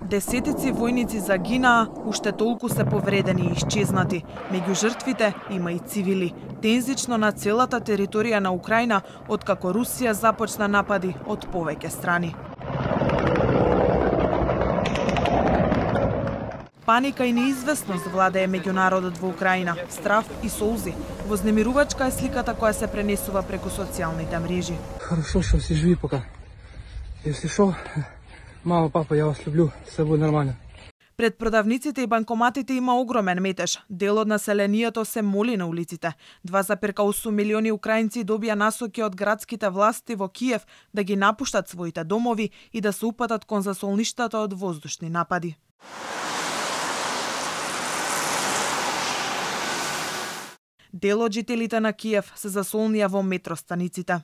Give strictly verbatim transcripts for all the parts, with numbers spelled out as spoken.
Десетици војници загинаа, уште толку се повредени и исчезнати. Меѓу жртвите има и цивили. Тензично на целата територија на Украина, откако Русија започна напади од повеќе страни. Паника и неизвестност владее меѓу народот во Украина, страв и солзи. Вознемирувачка е сликата која се пренесува преку социјалните мрежи. Хорошо што си живи пока. Если шо, мама, папа, ја вас люблю, се буде нормално. Пред продавниците и банкоматите има огромен метеж. Дел од населението се моли на улиците. два запирка осум милиони украинци добија насоки од градските власти во Киев да ги напуштат своите домови и да се упатат кон засолништата од воздушни напади. Дел од жителите на Киев се засолнија во метростаниците.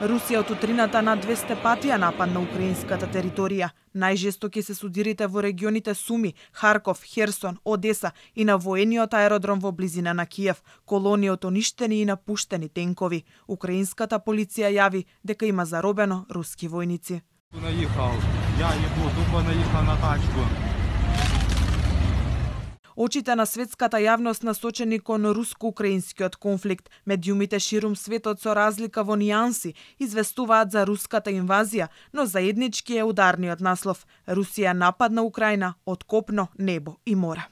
Русија од утрината на двесте пати ја нападна украинската територија. Најжестоки се судирите во регионите Суми, Харков, Херсон, Одеса и на воениот аеродром во близина на Киев, колони од уништени и напуштени тенкови. Украинската полиција јави дека има заробено руски војници. Наїхав, я ебу, тупо наїхав на тачку. Очите на светската јавност насочени кон руско-украинскиот конфликт. Медиумите ширум светот со разлика во нијанси известуваат за руската инвазија, но заеднички е ударниот наслов. Русија нападна Украина од копно, небо и море.